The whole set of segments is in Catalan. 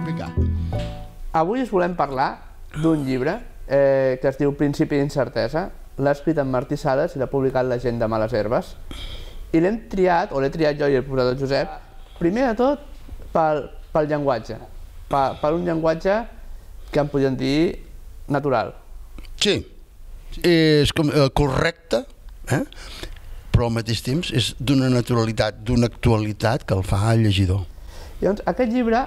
Vinga. Avui us volem parlar d'un llibre que es diu Principi d'incertesa. L'ha escrit en Martí Sales i l'ha publicat la gent de Males Herbes. I l'hem triat, o l'he triat jo i el professor Josep, primer de tot pel llenguatge. Per un llenguatge que en podríem dir natural. Sí, és correcte, però al mateix temps és d'una naturalitat, d'una actualitat que el fa llegidor. Llavors, aquest llibre,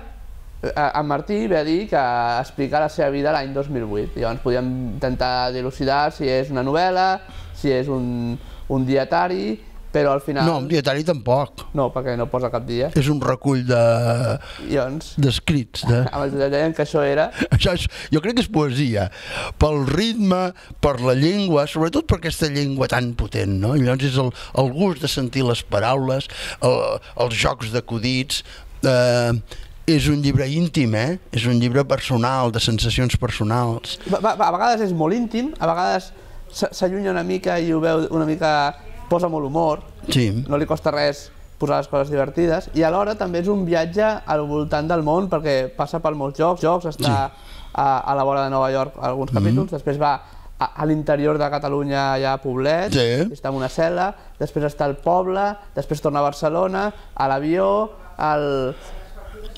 en Martí ve a dir que explica la seva vida l'any 2008. Llavors podíem intentar dilucidar si és una novel·la, si és un dietari, però al final... No, un dietari tampoc. No, perquè no posa cap dia. És un recull d'escrits. Amb el Josep deien que això era... Jo crec que és poesia, pel ritme, per la llengua, sobretot per aquesta llengua tan potent, no? Llavors és el gust de sentir les paraules, els jocs d'acudits... És un llibre íntim, és un llibre personal, de sensacions personals. A vegades és molt íntim, a vegades s'allunya una mica i ho veu una mica... posa molt humor, no li costa res posar les coses divertides, i alhora també és un viatge al voltant del món perquè passa per molts jocs, està a la vora de Nova York alguns capítols, després va a l'interior de Catalunya, allà a Poblet, està en una cel·la, després està al poble, després torna a Barcelona, a l'avió, a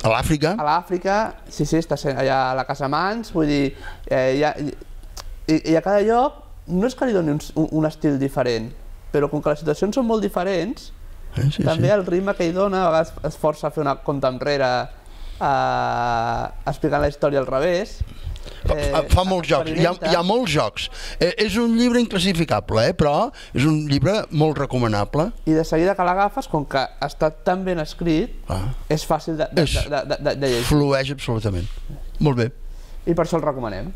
l'Àfrica. A l'Àfrica, sí, està allà a la Casa Mans, vull dir, i a cada lloc no és que li doni un estil diferent, però com que les situacions són molt diferents, també el ritme que hi dona, a vegades es força a fer una compte enrere explicant la història al revés. Fa molts jocs, hi ha molts jocs. És un llibre inclassificable, però és un llibre molt recomanable. I de seguida que l'agafes, com que està tan ben escrit, és fàcil de llegir. Flueix absolutament. Molt bé. I per això el recomanem.